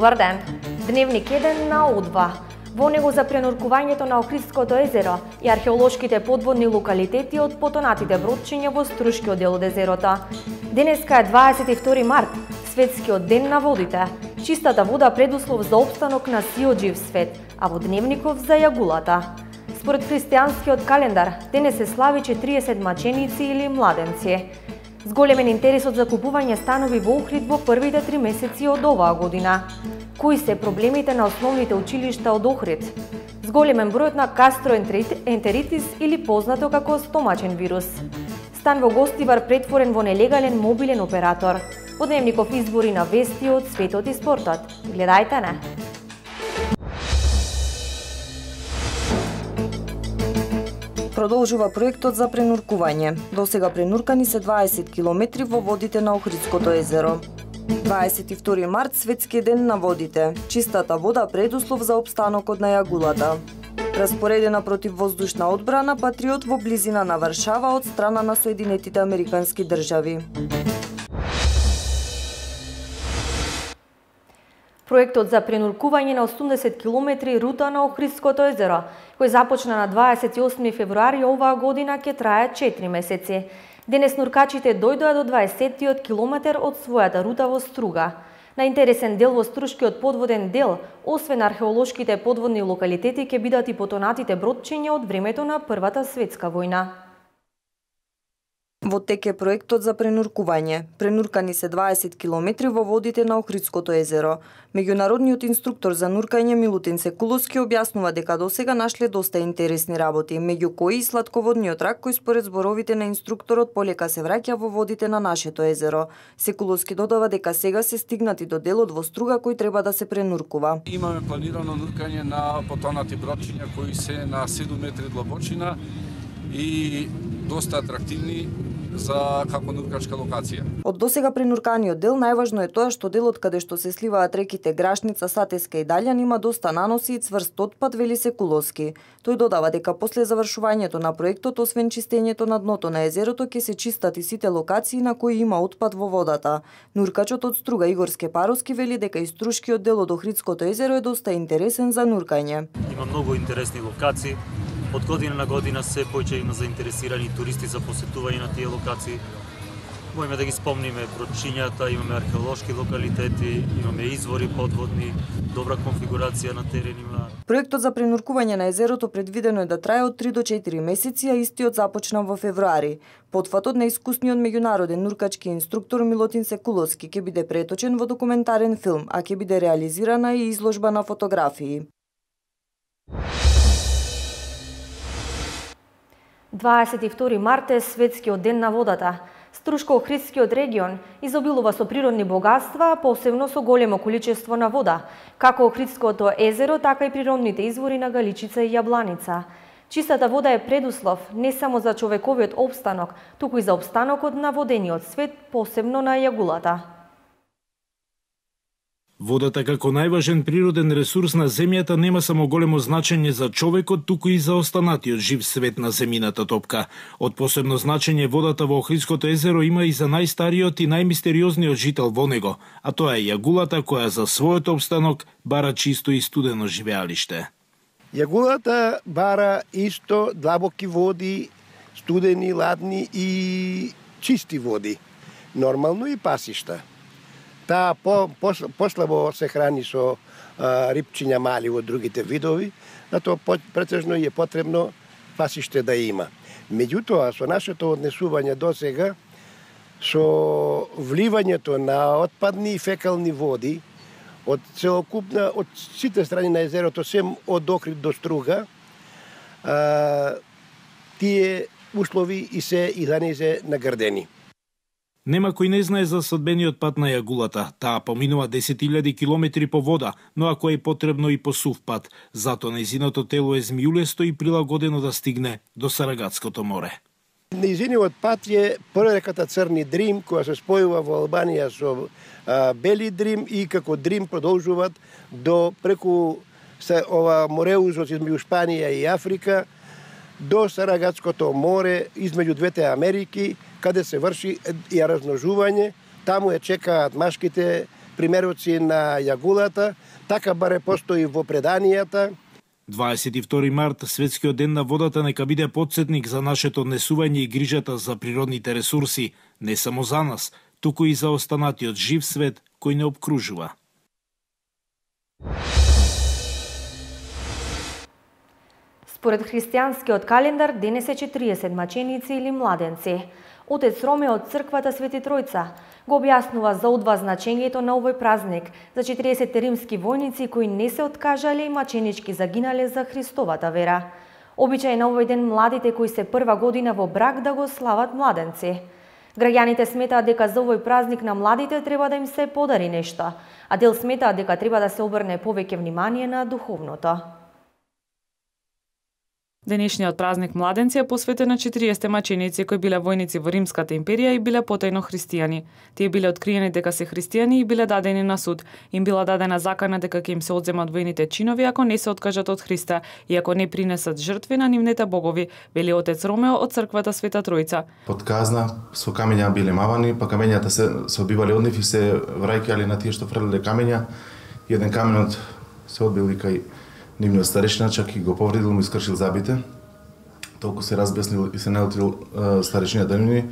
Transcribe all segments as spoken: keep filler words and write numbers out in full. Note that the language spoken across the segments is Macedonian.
Добар ден! Дневник еден на О два. Во него за пренуркувањето на Охридското езеро и археолошките подводни локалитети од потонатите бродчиња во струшкиот дел од езерото. Денеска е дваесет и втори март, светскиот ден на водите. Чистата вода предуслов за опстанок на сиот жив свет, а во дневников за јагулата. Според христијанскиот календар, денес се слави четириесет маченици или младенци. Зголемен интерес од закупување станови во Охрид во првите три месеци од оваа година. Кои се проблемите на основните училишта од Охрид? Зголемен бројот на гастроентеритис или познато како стомачен вирус. Стан во Гостивар претворен во нелегален мобилен оператор. Во дневников избори на вести од светот и спортот. Гледајте не! Продолжува проектот за пренуркување. Досега пренуркани се дваесет километри во водите на Охридското езеро. дваесет и втори март, светскиот ден на водите. Чистата вода предуслов за опстанокот на јагулата. Распоредена противвоздушна одбрана Патриот во близина на Варшава од страна на Соединетите Американски држави. Проектот за пренуркување на осумдесет километри рута на Охридското езеро, кој започна на дваесет и осми февруари оваа година, ќе трае четири месеци. Денес нуркачите дојдоа до дваесеттиот километар од својата рута во Струга. На интересен дел во Струшкиот подводен дел, освен археолошките подводни локалитети, ќе бидат и потонатите бродчиња од времето на Првата светска војна. Во тек е проектот за пренуркување. Пренуркани се дваесет километри во водите на Охридското езеро. Меѓународниот инструктор за нуркање Милутин Секуловски објаснува дека досега нашле доста интересни работи, меѓу кои и сладководниот рак кој според зборовите на инструкторот полека се враќа во водите на нашето езеро. Секуловски додава дека сега се стигнати до делот во Струга кој треба да се пренуркува. Имаме планирано нуркање на потонати бродчиња кои се на седум метри длабочина и доста атрактивни за како нуркачка локација. Од досега пренурканиот дел најважно е тоа што делот каде што се сливаат реките Грашница, Сатеска и Далјан има доста наноси и цврст отпад, вели Секуловски. Тој додава дека после завршувањето на проектот, освен чистењето на дното на езерото, ќе се чистат и сите локации на кои има отпад во водата. Нуркачот од Струга Игор Скепаровски вели дека и струшкиот дел од Охридското езеро е доста интересен за нуркање. Има многу интересни локации. Од година на година се поќе има заинтересирани туристи за посетување на тие локации. Можеме да ги спомниме бродчињата, имаме археолошки локалитети, имаме извори подводни, добра конфигурација на теренима. Проектот за пренуркување на езерото предвидено е да трае од три до четири месеци, а истиот започна во февруари. Потфатот на искусниот меѓународен нуркачки инструктор Милутин Секуловски ќе биде преточен во документарен филм, а ќе биде реализирана и изложба на фотографии. дваесет и втори март е светскиот ден на водата. Струшко-Охридскиот регион изобилува со природни богатства, посебно со големо количество на вода, како Охридското езеро, така и природните извори на Галичица и Јабланица. Чистата вода е предуслов не само за човековиот опстанок, туку и за опстанокот на водениот свет, посебно на јагулата. Водата како најважен природен ресурс на земјата нема само големо значење за човекот, туку и за останатиот жив свет на земјината топка. Од посебно значење водата во Охридското езеро има и за најстариот и најмистериозниот жител во него, а тоа е јагулата која за својот опстанок бара чисто и студено живеалиште. Јагулата бара исто длабоки води, студени, ладни и чисти води, нормално и пасишта. Таа по, по, послабо се храни со а, рипчиња мали од другите видови, затоа претежно е потребно пасиште да има. Меѓутоа, со нашето однесување досега, со вливањето на отпадни и фекални води од целокупна, од сите страни на езерото, сем од Охрид до Струга, а, тие услови и се и данезе наградени. Нема кој не знае за садбениот пат на јагулата. Таа поминува десет илјади километри по вода, но ако е потребно и по сув пат, затоа нејзиното тело е змиулесто и прилагодено да стигне до Сарагатското море. Нејзиниот пат е пререката Црни Дрим, која се спојува во Албанија со а, Бели Дрим и како Дрим продолжуваат до преку се, ова мореузот измеѓу Шпанија и Африка, до Сарагатското море, измеѓу двете Америки, каде се врши и размножување. Таму е чекаат машките примероци на јагулата, така баре постои во преданијата. дваесет и втори март, светскиот ден на водата, нека биде потсетник за нашето однесување и грижата за природните ресурси, не само за нас, туку и за останатиот жив свет кој не обкружува. Според христијанскиот календар, денес е четириесет маченици или младенци. Отец Роме од црквата Свети Тројца го објаснува за одва значењето на овој празник за четириесет римски војници кои не се откажале и маченички загинале за Христовата вера. Обичај на овој ден младите кои се прва година во брак да го слават младенци. Граѓаните сметаат дека за овој празник на младите треба да им се подари нешто, а дел сметаат дека треба да се обрне повеќе внимание на духовното. Денешниот празник младенци е посветен на четириесет маченици кои биле војници во Римската империја и биле потајно христијани. Тие биле откриени дека се христијани и биле дадени на суд. Им била дадена закана дека ќе им се одземат војните чинови ако не се откажат од Христа и ако не принесат жртви на нивните богови, вели отец Ромео од црквата Света Тројца. Под казна со камења биле мавани, па камењата се се одбивале од нив и се враќале на тие што фрлеле камења. Еден каменот се одбил и кај нивниот старешина, чак и го повредил, му искршил забите. Толку се разбеснил и се наутил старешината нивни,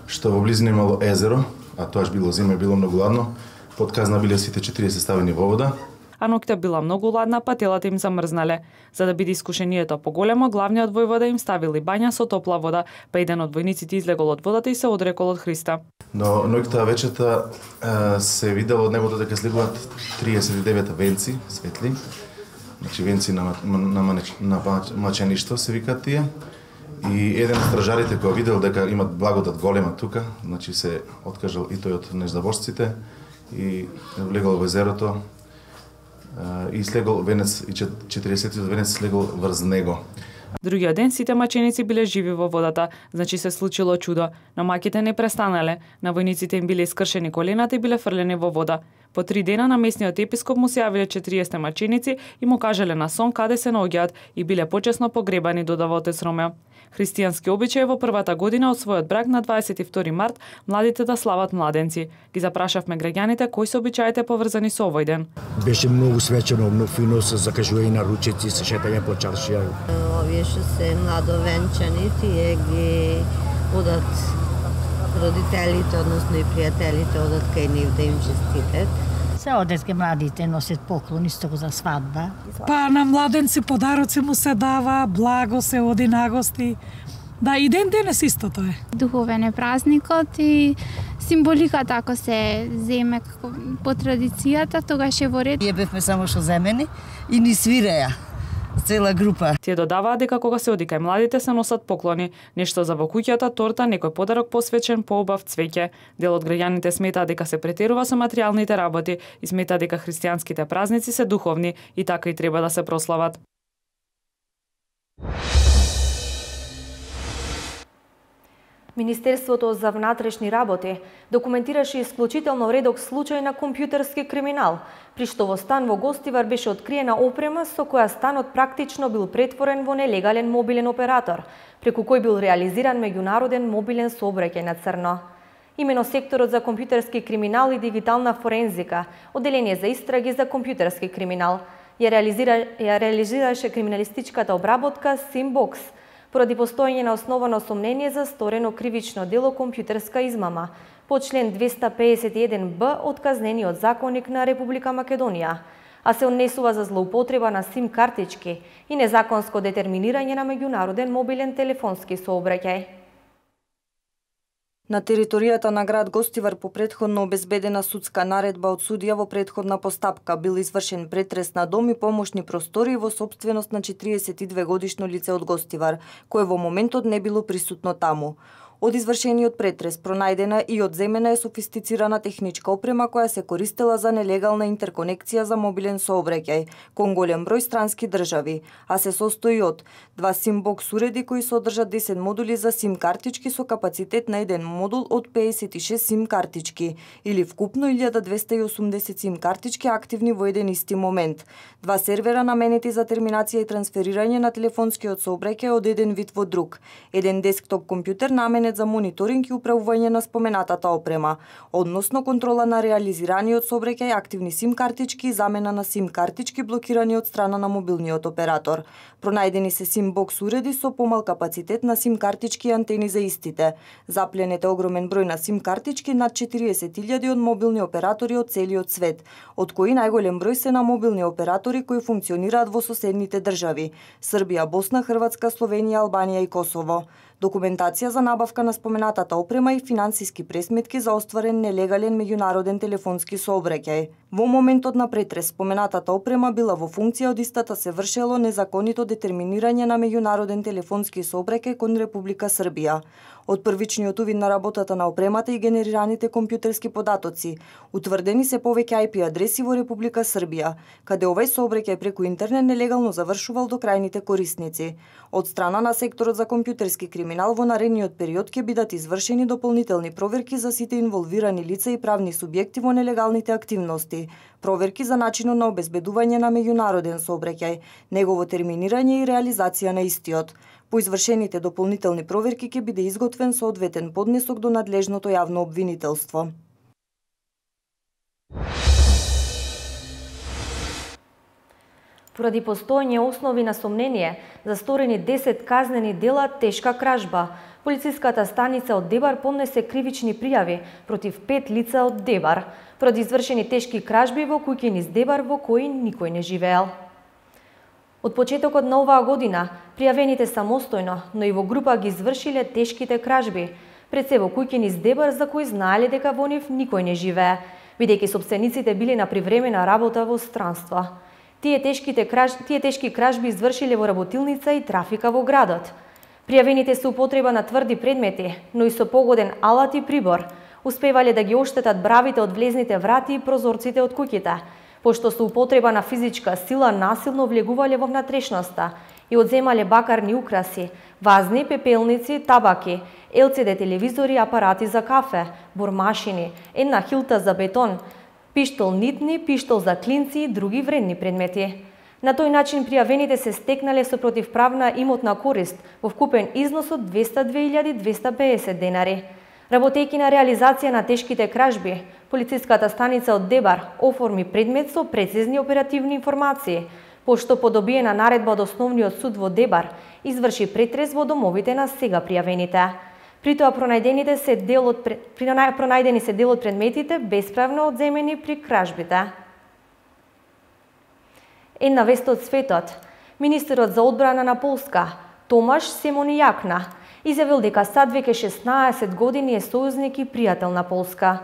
што во близина имало езеро, а тоаш било зима и било многу ладно. Под казна биле сите четириесет ставени во вода. А ноќта била многу ладна, па телата им замрзнале. За да биде искушението поголемо, главниот војвода им ставили бања со топла вода, па еден од војниците излегол од водата и се одрекол од Христа. Но ноќта вечерта се видело од небото дека слегуваат триесет и девет венци светли. Значи венци на, на, на, на мачеништво се викаат тие. И еден од стражарите кој видел дека имат благодат голема тука, значи се откажал и тој од неждабожците и влегол во езерото и слегол венец, и четириесетиот венец слегол врз него. Другиот ден сите маченици биле живи во водата, значи се случило чудо, но маките не престанале. На војниците им биле искршени колената и биле фрлени во вода. По три дена на местниот епископ му се јавиле четириесет маченици и му кажале на сон каде се наоѓаат и биле почесно погребани, додава отец Ромео. Христијански обичај во првата година од својот брак на дваесет и втори март младите да слават младенци. Ги запрашавме граѓаните кои се обичаите поврзани со овој ден. Беше многу свечено, многу фино, се закажување на ручици, се шетање по чаршија. Овие што се младовенчани, тие ги одат родителите, односно и пријателите, одат кај нив да им честитат. Се одеске младите носат поклон исто за свадба. Па на младенци подароци му се дава, благо се оди на гости. Да, и ден денес истото е. Духовен е празникот и символиката ако се земе како по традицијата, тогаш е во ред. Ние бевме само што земени и ни свиреа цела група. Тие додаваат дека кога се оди кај младите се носат поклони, нешто за во куќата, торта, некој подарок посвечен, поубав цвеќе. Дел од граѓаните сметаат дека се претерува со материјалните работи и сметаат дека христијанските празници се духовни и така и треба да се прослават. Министерството за внатрешни работи документираше исклучително редок случај на компјутерски криминал, при што во стан во Гостивар беше откриена опрема со која станот практично бил претворен во нелегален мобилен оператор, преку кој бил реализиран меѓународен мобилен сообраќај на црно. Имено секторот за компјутерски криминал и дигитална форензика, одделение за истраги за компјутерски криминал, ја реализира ја реализираше криминалистичката обработка Симбокс, поради постоење на основано сомнение за сторено кривично дело компјутерска измама по член двеста педесет и еден б од Казнениот законник на Република Македонија, а се однесува за злоупотреба на сим картички и незаконско детерминирање на меѓународен мобилен телефонски сообраќај. На територијата на град Гостивар по претходно обезбедена судска наредба од судија во претходна постапка бил извршен претрес на дом и помошни простори во сопственост на четириесет и две годишно лице од Гостивар, кое во моментот не било присутно таму. Од извршениот претрес пронајдена и одземена е софистицирана техничка опрема која се користела за нелегална интерконекција за мобилен сообраќај кон голем број странски држави, а се состои од два симбокс уреди кои содржат десет модули за сим картички со капацитет на еден модул од педесет и шест сим картички или вкупно илјада двесте и осумдесет сим картички активни во еден исти момент, два сервера наменети за терминација и трансферирање на телефонскиот сообраќај од еден вид во друг, еден десктоп компјутер наменет предмет за мониторинг и управување на споменатата опрема, односно контрола на реализираниот сообраќај активни сим картички и замена на сим картички блокирани од страна на мобилниот оператор. Пронајдени се сим бокс уреди со помал капацитет на сим картички и антени за истите. Запленет е огромен број на сим картички, над четириесет илјади од мобилни оператори од целиот свет, од кои најголем број се на мобилни оператори кои функционираат во соседните држави: Србија, Босна, Хрватска, Словенија, Албанија и Косово. Документација за набавка на споменатата опрема и финансиски пресметки за остварен нелегален меѓународен телефонски сообраќај. Во моментот на претрес споменатата опрема била во функција, од истата се вршело незаконито детерминирање на меѓународен телефонски сообраќај кон Република Србија. Од првичниот увид на работата на опремата и генерираните компјутерски податоци, утврдени се повеќе ај пи адреси во Република Србија, каде овај сообраќај преку интернет нелегално завршувал до крајните корисници. Од страна на секторот за компјутерски криминал во наредниот период ќе бидат извршени дополнителни проверки за сите инволвирани лица и правни субјекти во нелегалните активности, проверки за начинот на обезбедување на меѓународен сообраќај, негово терминирање и реализација на истиот. По извршените дополнителни проверки ќе биде изготвен соодветен поднесок до надлежното јавно обвинителство. Поради постоење основи на сомнение за сторени десет казнени дела тешка кражба, полициската станица од Дебар поднесе кривични пријави против пет лица од Дебар, поради извршени тешки кражби во куќи низ Дебар во кои никој не живеел. Од почетокот на оваа година, пријавените самостојно, но и во група ги извршиле тешките кражби, пред се во куќи низ Дебар за кои знаеле дека во нив никој не живее, бидејќи собствениците биле на привремена работа во странство. Тие, тешките краж... Тие тешки кражби извршиле во работилница и трафика во градот. Пријавените се употреба на тврди предмети, но и со погоден алат и прибор, успевале да ги оштетат бравите од влезните врати и прозорците од куќите, пошто со употреба на физичка сила насилно влегувале во внатрешноста и одземале бакарни украси, вазни, пепелници, табаки, ел си ди телевизори, апарати за кафе, бормашини, една хилта за бетон, пиштол нитни, пиштол за клинци и други вредни предмети. На тој начин пријавените се стекнале со противправна имотна корист во вкупен износ од двесте и две илјади двесте и педесет денари. Работејќи на реализација на тешките кражби, полициската станица од Дебар оформи предмет со прецизни оперативни информации, пошто по добиена наредба од Основниот суд во Дебар изврши претрес во домовите на сега пријавените. При тоа пронајдените се дел од при пронајдени се дел од предметите бесправно одземени при кражбите. Една вест од светот. Министерот за одбрана на Полска, Томаш Семонијакна, изјавил дека сад веќе шеснаесет години е сојузник и пријател на Полска.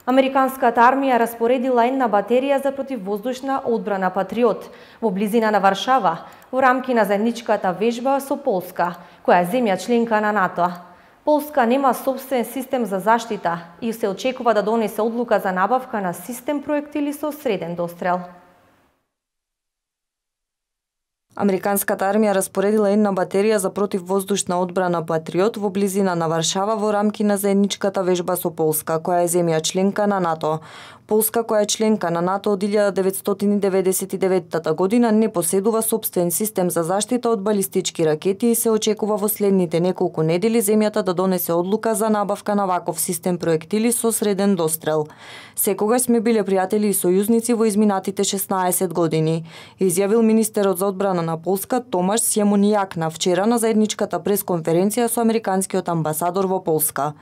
Американската армија распоредила една батерија за противвоздушна одбрана Патриот во близина на Варшава во рамки на заедничката вежба со Полска, која е земја членка на НАТО. Полска нема собствен систем за заштита и се очекува да донесе одлука за набавка на систем проектили со среден дострел. Американската армија распоредила една батерија за противвоздушна одбрана Патриот во близина на Варшава во рамки на заедничката вежба со Полска, која е земја членка на НАТО. Полска, која е членка на НАТО од илјада деветстотини деветдесет и девета година, не поседува собствен систем за заштита од балистички ракети и се очекува во следните неколку недели земјата да донесе одлука за набавка на ваков систем проектили со среден дострел. Секогаш сме биле пријатели и сојузници во изминатите шеснаесет години, изјавил министерот за одбрана на Полска Томаш Семонијакна вчера на заедничката пресконференција со американскиот амбасадор во Полска.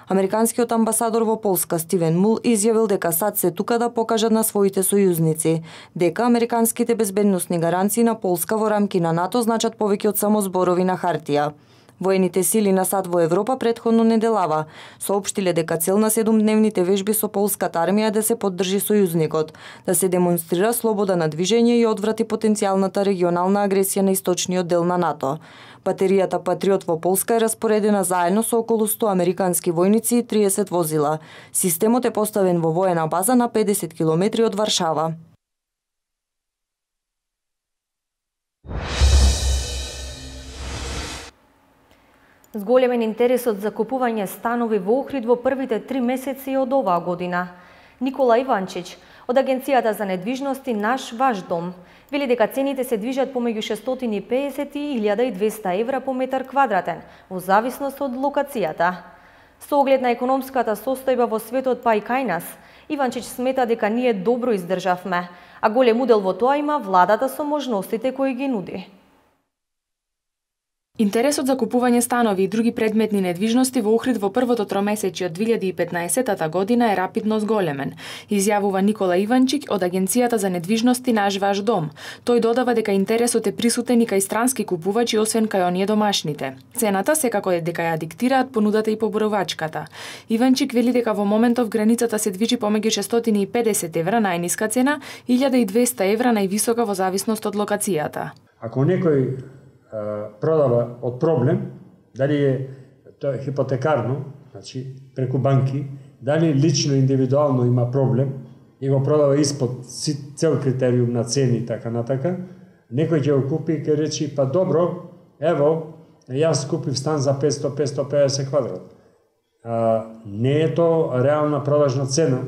Американскиот амбасадор во Полска Стивен Мул изјавил дека САД се тука да покажат на своите сојузници дека американските безбедносни гаранции на Полска во рамки на НАТО значат повеќе од само зборови на хартија. Воените сили на САД во Европа претходно неделава соопштиле дека цел на седумдневните вежби со полската армија да се поддржи сојузникот, да се демонстрира слобода на движење и одврати потенцијалната регионална агресија на источниот дел на НАТО. Батеријата Патриот во Полска е распоредена заедно со околу сто американски војници и триесет возила. Системот е поставен во воена база на педесет километри од Варшава. Зголемен интересот за купување станови во Охрид во првите три месеци од оваа година. Никола Иванчич од Агенцијата за недвижности Наш ваш дом вели дека цените се движат помеѓу шестстотини и педесет и илјада и двесте евра по метар квадратен, во зависност од локацијата. Со оглед на економската состојба во светот па и кај нас, Иванчич смета дека ние добро издржавме, а голем удел во тоа има владата со можностите кои ги нуди. Интересот за купување станови и други предметни недвижности во Охрид во првото тромесечје од две илјади и петнаесетта година е рапидно зголемен, изјавува Никола Иванчик од Агенцијата за недвижности Наш ваш дом. Тој додава дека интересот е присутен и кај странски купувачи освен кај оние домашните. Цената секако е дека ја диктираат понудата и поборовачката. Иванчик вели дека во моментов границата се движи помеѓу шестстотини и педесет евра најниска цена, илјада и двесте евра највисока во зависност од локацијата. Ако некој продава од проблем, дали е тоа е хипотекарно, значи преку банки, дали лично индивидуално има проблем и го продава испод цел критериум на цени и така натака, некој ќе го купи и ќе речи па добро, ево, јас купив стан за петсто до петсто и педесет квадрат. А, не е тоа реална продажна цена.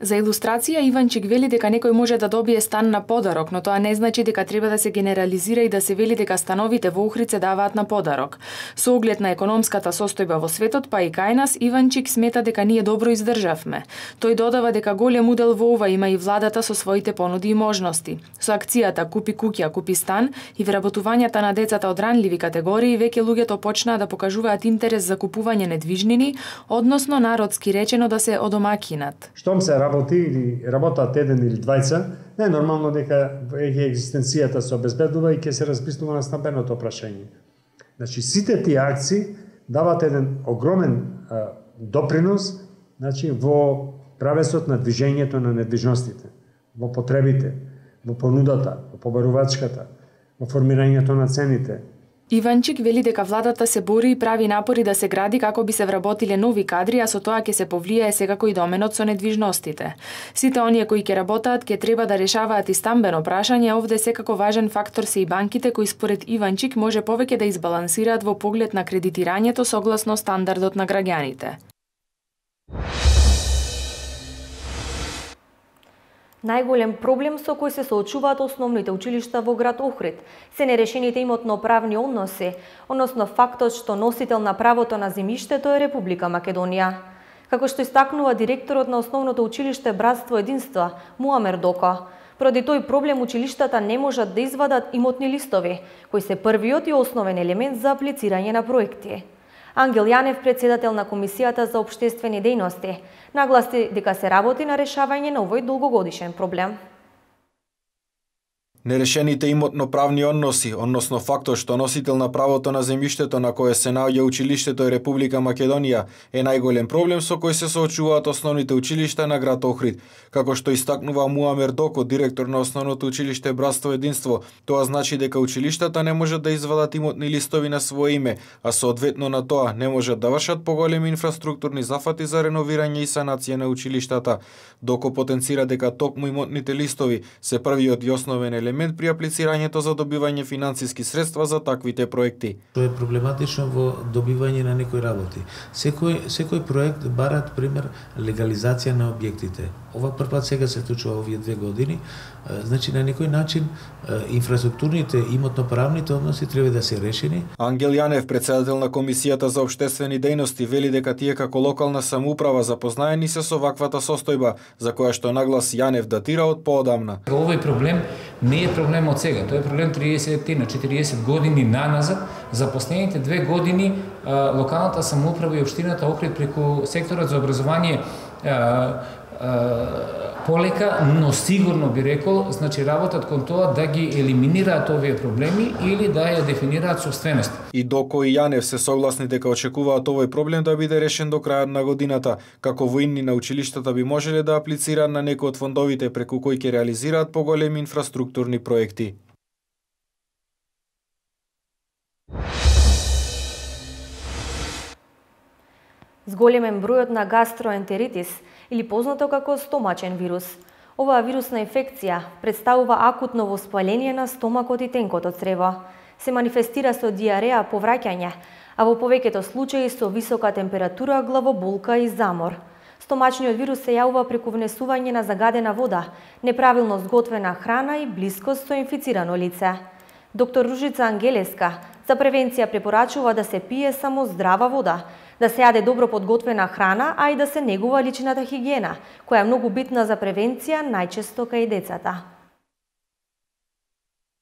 За илустрација, Иванчик вели дека некој може да добие стан на подарок, но тоа не значи дека треба да се генерализира и да се вели дека становите во Охрид се даваат на подарок. Со оглед на економската состојба во светот, па и кај нас, Иванчик смета дека ние добро издржавме. Тој додава дека голем удел во ова има и владата со своите понуди и можности. Со акцијата Купи куќа, купи стан и вработувањата на децата од ранливи категории, веќе луѓето почнаа да покажуваат интерес за купување недвижнини, односно народски речено да се одомакинат. Штом се работи или работат еден или двајца, не е нормално дека екзистенцијата се обезбедува и ќе се расписнува на стамбеното прашање. Значи, сите тие акции дават еден огромен а, допринос, значи, во правесот на движењето на недвижностите, во потребите, во понудата, во побарувачката, во формирањето на цените. Иванчик вели дека владата се бори и прави напори да се гради како би се вработиле нови кадри, а со тоа ќе се повлијае секако и доменот со недвижностите. Сите оние кои ќе работаат ќе треба да решаваат и стамбено прашање, овде секако важен фактор се и банките кои според Иванчик може повеќе да избалансираат во поглед на кредитирањето согласно стандардот на граѓаните. Најголем проблем со кој се соочуваат основните училишта во град Охрид се нерешените имотно-правни односи, односно фактот што носител на правото на земјиштето е Република Македонија. Како што истакнува директорот на основното училиште Братство Единство, Муамер Доко, поради тој проблем училиштата не можат да извадат имотни листови, кои се првиот и основен елемент за аплицирање на проекти. Ангел Јанев, председател на Комисијата за општествени дејности, нагласи дека се работи на решавање на овој долгогодишен проблем. Нерешените имотно-правни односи, односно фактот што носител на правото на земјиштето на кое се наоѓа училиштето е Република Македонија, е најголем проблем со кој се соочуваат основните училишта на град Охрид. Како што истакнува Муамер Доко, директор на основното училиште Братство Единство, тоа значи дека училиштата не можат да извадат имотни листови на свое име, а соодветно на тоа не можат да вршат поголеми инфраструктурни зафати за реновирање и санација на училиштата. Доко потенцира дека токму имотните листови се првиот и основен елемент при аплицирањето за добивање финансиски средства за таквите проекти. Тоа е проблематично во добивање на некои работи. Секој секој проект барат пример легализација на објектите. Ова првпат сега се случува овие две години. Значи на некој начин инфраструктурните имотно-правните односи треба да се решени. Ангел Јанев, председател на Комисијата за општествени дејности, вели дека тие како локална самоуправа запознаени се со ваквата состојба, за која што наглас Јанев датира од поодамна. Овој проблем не е проблем од сега, тоа е проблем триесет на четириесет години наназад. За последните две години локалната самоуправа и општината Охрид преку секторот за образование полека, но сигурно би рекол, значи работат кон тоа да ги елиминираат овие проблеми или да ја дефинираат собственост. И Доко и Јанев се согласни дека очекуваат овој проблем да биде решен до крајот на годината, како воинни на училиштата би можеле да аплицираат на некој од фондовите преку кои ќе реализираат поголеми инфраструктурни проекти. Зголемен бројот на гастроентеритис, или познато како стомачен вирус. Оваа вирусна инфекција представува акутно воспаление на стомакот и тенкото црево. Се манифестира со диареја, повраќање, а во повеќето случаи со висока температура, главоболка и замор. Стомачниот вирус се јавува преку внесување на загадена вода, неправилно зготвена храна и блискост со инфицирано лице. Доктор Ружица Ангелеска, За превенција препорачува да се пие само здрава вода, да се јаде добро подготвена храна, а и да се негува личната хигиена, која е многу битна за превенција, најчесто кај децата.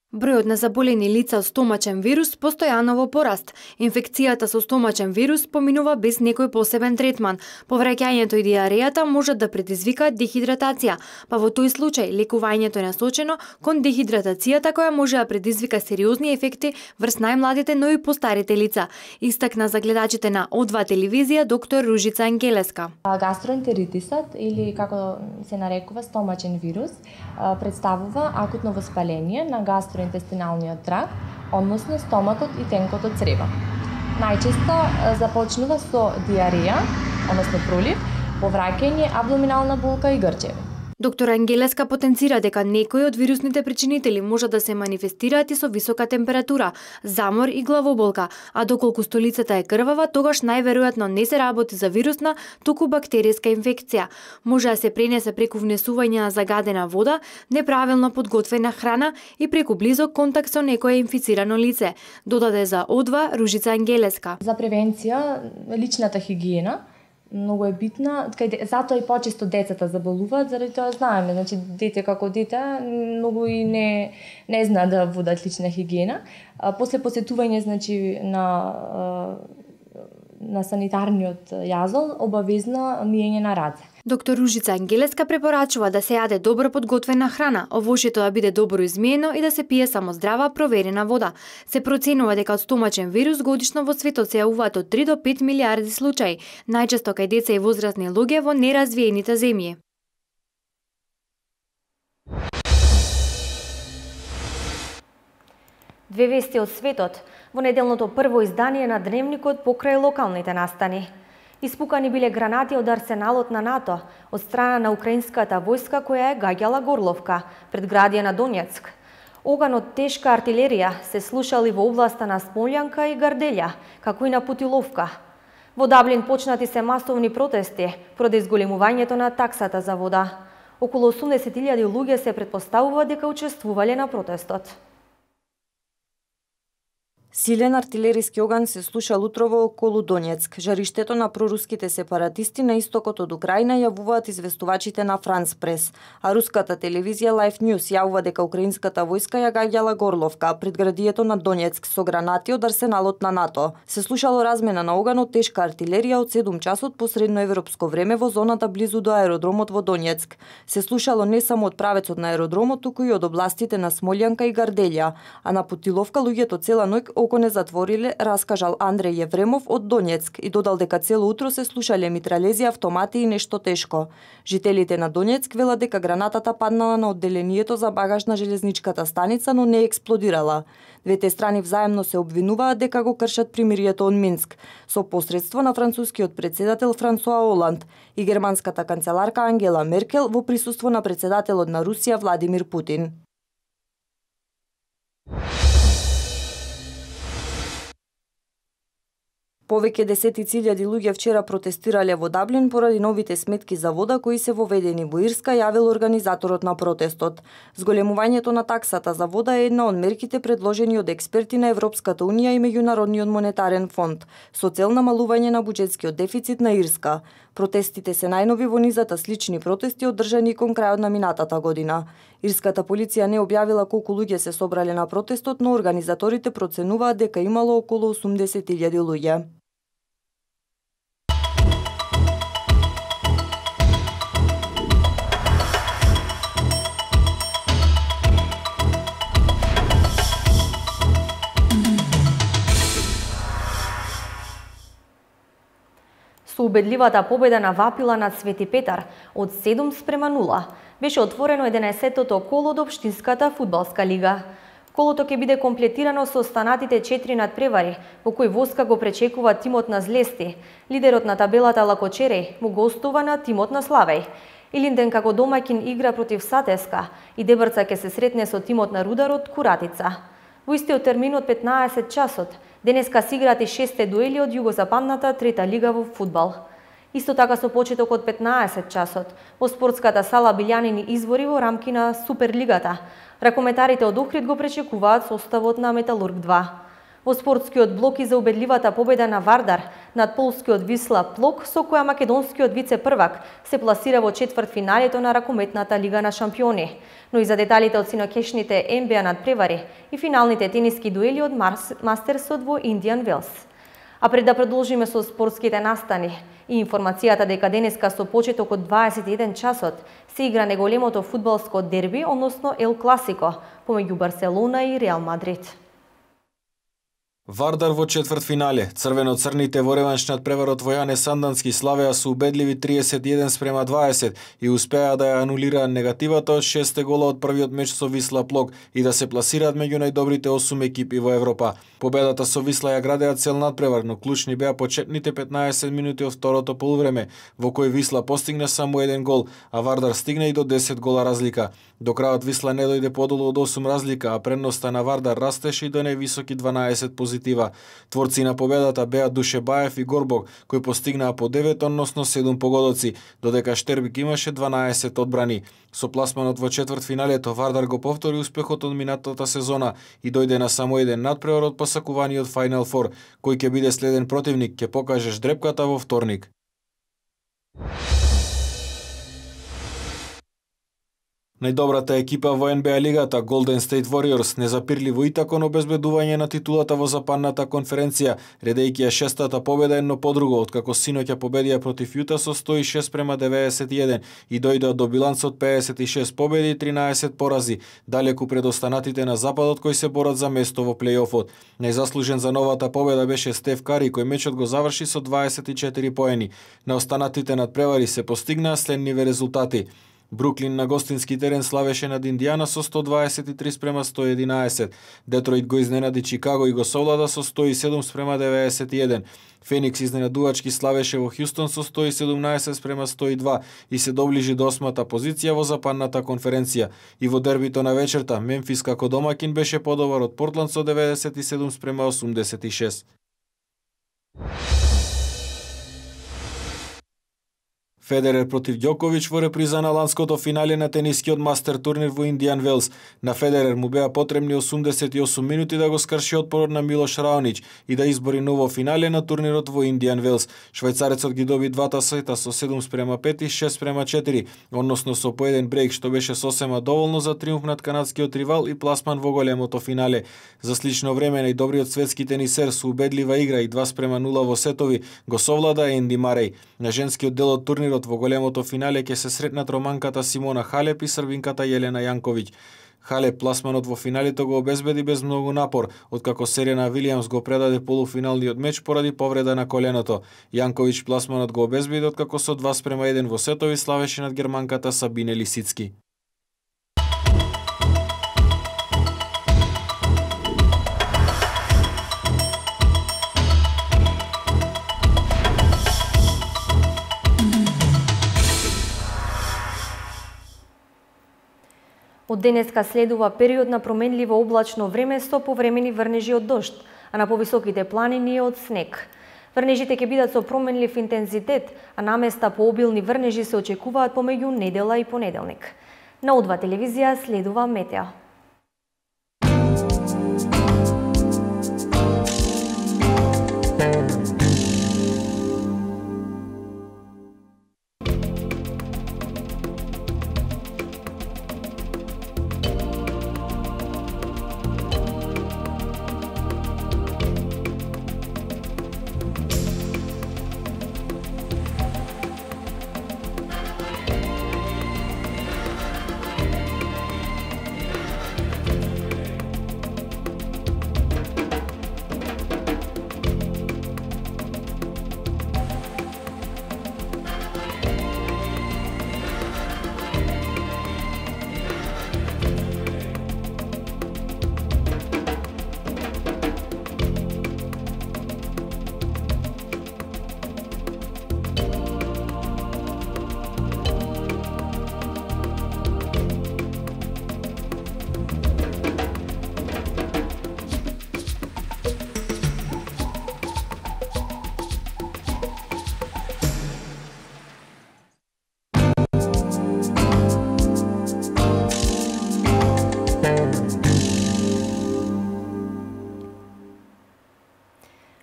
Бројот на заболени лица од стомачен вирус постојано во пораст. Инфекцијата со стомачен вирус поминува без некој посебен третман. Повраќањето и диарејата можат да предизвикаат дехидратација, па во тој случај лекувањето е насочено кон дехидратацијата која може да предизвика сериозни ефекти врз најмладите, но и постарите лица, истакна за гледачите на О два телевизија доктор Ружица Ангелеска. Гастроентеритисот, или како се нарекува стомачен вирус, представува акутно воспаление на гастро интестиналниот тракт, односно стомакот и тенкото црево. Најчесто започнува со диареја, односно пролив, повраќање, абдоминална болка и грчеви. Доктор Ангелеска потенцира дека некои од вирусните причинители можат да се манифестираат и со висока температура, замор и главоболка, а доколку столицата е крвава, тогаш најверојатно не се работи за вирусна, туку бактеријска инфекција. Може да се пренесе преку внесување на загадена вода, неправилно подготвена храна и преку близок контакт со некое инфицирано лице, додаде за О два Ружица Ангелеска. За превенција, личната хигиена многу е битна, затоа и почесто децата заболуваат, заради тоа знаеме, значи дете како дете многу и не не знаат да водат лична хигиена. А, после посетување значи на на санитарниот јазол обавезно миење на раце. Доктор Ружица Ангелеска препорачува да се јаде добро подготвена храна, овошјето да биде добро измиено и да се пие само здрава проверена вода. Се проценува дека од стомачен вирус годишно во светот се јавуваат од три до пет милиарди случаи, најчесто кај деца и возрастни луѓе во неразвиените земји. Две вести од светот во неделното прво издание на Дневникот покрај локалните настани. Испукани биле гранати од арсеналот на НАТО од страна на украинската војска која е гаѓала Горловка, предградија на Донецк. Оган од тешка артилерија се слушали во областа на Смолјанка и Гарделја, како и на Путиловка. Во Даблин почнати се масовни протести поради зголемувањето на таксата за вода. Околу осумдесет илјади луѓе се претпоставува дека учествувале на протестот. Силен артилериски оган се слушал утрово околу Донецк. Жариштето на проруските сепаратисти на истокот од Украина јавуваат известувачите на Франс Прес, а руската телевизија Life News јавува дека украинската војска ја гаѓала Горловка, предградието на Донецк, со гранати од арсеналот на НАТО. Се слушало размена на оган од тешка артилерија од седум часот по средноевропско време во зоната близу до аеродромот во Донецк. Се слушало не само од правецот на аеродромот, туку и од областите на Смолјанка и Гарделја, а на Путиловка луѓето цела ноќ око не затвориле, раскажал Андреј Евремов од Донецк и додал дека цело утро се слушале митралези, автомати и нешто тешко. Жителите на Донецк велат дека гранатата паднала на одделението за багаж на железничката станица, но не експлодирала. Двете страни взаемно се обвинуваат дека го кршат примирието од Минск, со посредство на францускиот председател Франсуа Оланд и германската канцеларка Ангела Меркел во присуство на председателот на Русија Владимир Путин. Повеќе десетици илјади луѓе вчера протестирале во Даблин поради новите сметки за вода кои се воведени во Ирска, јавил организаторот на протестот. Зголемувањето на таксата за вода е една од мерките предложени од експерти на Европската унија и Меѓународниот монетарен фонд, со цел намалување на буџетскиот дефицит на Ирска. Протестите се најнови во низата слични протести одржани кон крајот на минатата година. Ирската полиција не објавила колку луѓе се собрале на протестот, но организаторите проценуваат дека имало околу осумдесет илјади луѓе. Со убедливата победа на Вапила над Свети Петар од седум спрема нула, беше отворено единаесеттото коло од Општинската фудбалска лига. Колото ќе биде комплетирано со останатите четири надпревари, во кои воска го пречекува тимот на Злести. Лидерот на табелата Лакочереј му гостува на тимот на Славеј. Илинден како домаќин игра против Сатеска и Дебрца ќе се сретне со тимот на Рударот Куратица. Во истиот термин од петнаесет часот, денеска се играат и шесте дуели од југозападната трета лига во фудбал. Исто така со почеток од петнаесет часот, во спортската сала Билјанини извори во рамки на Суперлигата, ракометарите од Охрид го пречекуваат составот на Металург два. Во спортскиот блок и за убедливата победа на Вардар над полскиот Висла Плок, со која македонскиот вице-првак се пласира во четвртфиналето на ракометната Лига на шампиони. Но и за деталите од синокешните Н Б А надпревари и финалните тениски дуели од Мастерсот во Индијан Велс. А пред да продолжиме со спортските настани и информацијата дека денеска со почеток од дваесет и еден часот се игра неголемото фудбалско дерби, односно Ел Класико, помеѓу Барселона и Реал Мадрид. Вардар во четвртфинале. Црвено-црните во реванш над преварот во Јане Сандански славеа со убедливи триесет и еден спрема дваесет и успеа да ја анулираат негативата од шесте гола од првиот меч со Висла Плок и да се пласираат меѓу најдобрите осум екипи во Европа. Победата со Висла ја градеа цел надпревар, но клучни беа почетните петнаесет минути од второто полувреме, во кој Висла постигна само еден гол, а Вардар стигна и до десет гола разлика. До крајот Висла не дојде подолу од осум разлика, а предноста на Вардар растеше и до највисоки дванаесет позитива. Творци на победата беа Душе Баев и Горбог, кои постигнаа по девет, односно седум погодоци, додека Штербик имаше дванаесет одбрани. Со пласманот во четвртфиналето Вардар го повтори успехот од минатата сезона и дојде на само еден надпревар од посакуваниот Final Four, кој ќе биде следен противник, ќе покаже ждрепката во вторник. Најдобрата екипа во Н Б А лигата, Golden State Warriors, незапирливо и тако на обезбедување на титулата во западната конференција, редејќи ја шестата победа едно по друго, откако синоќа победија против Јута со сто и шест према деветдесет и еден и дојдоа до биланс од педесет и шест победи и тринаесет порази, далеку пред останатите на западот кои се борат за место во плејофот. Најзаслужен за новата победа беше Стеф Кари, кој мечот го заврши со дваесет и четири поени. На останатите надпревари се постигнаа следниве резултати. Бруклин на гостински терен славеше над Индијана со сто дваесет и три спрема сто и единаесет. Детройт го изненади Чикаго и го совлада со сто и седум спрема деветдесет и еден. Феникс изненадувачки славеше во Хјустон со сто и седумнаесет спрема сто и два и се доближи до осмата позиција во западната конференција. И во дербито на вечерта, Мемфис како домакин беше подобар од Портланд со деветдесет и седум спрема осумдесет и шест. Федерер против Ѓоковиќ во реприза на ланското финале на тенискиот мастер турнир во Индијан Велс. На Федерер му беа потребни осумдесет и осум минути да го скрши отпорот на Милош Раонич и да избори ново финале на турнирот во Индијан Велс. Швајцарецот ги доби двата сета со седум спрема пет и шест спрема четири, односно со по еден брейк, што беше сосема доволно за триумф над канадскиот ривал и пласман во големото финале. За слично време најдобриот светски тенисер со убедлива игра и два спрема нула во сетови го совлада Енди Мареј. На женскиот дел од турнирот во големото финале ќе се сретнат романката Симона Халеп и србинката Јелена Јанковиќ. Халеп пласманот во финалето го обезбеди без многу напор, откако Серена Вилијамс го предаде полуфиналниот меч поради повреда на коленото. Јанковиќ пласманот го обезбеди откако со два спрема еден во сетови славеше над германката Сабине Лисицки. Од денеска следува период на променливо облачно време со повремени врнежи од дожд, а на повисоките планини од снег. Врнежите ќе бидат со променлив интензитет, а наместа по обилни врнежи се очекуваат помеѓу недела и понеделник. На О два телевизија следува метео.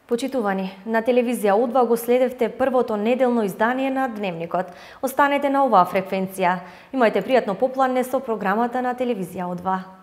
Почитувани, на телевизија О два го следевте првото неделно издание на Дневникот. Останете на оваа фреквенција. Имајте пријатно попладне со програмата на телевизија О два.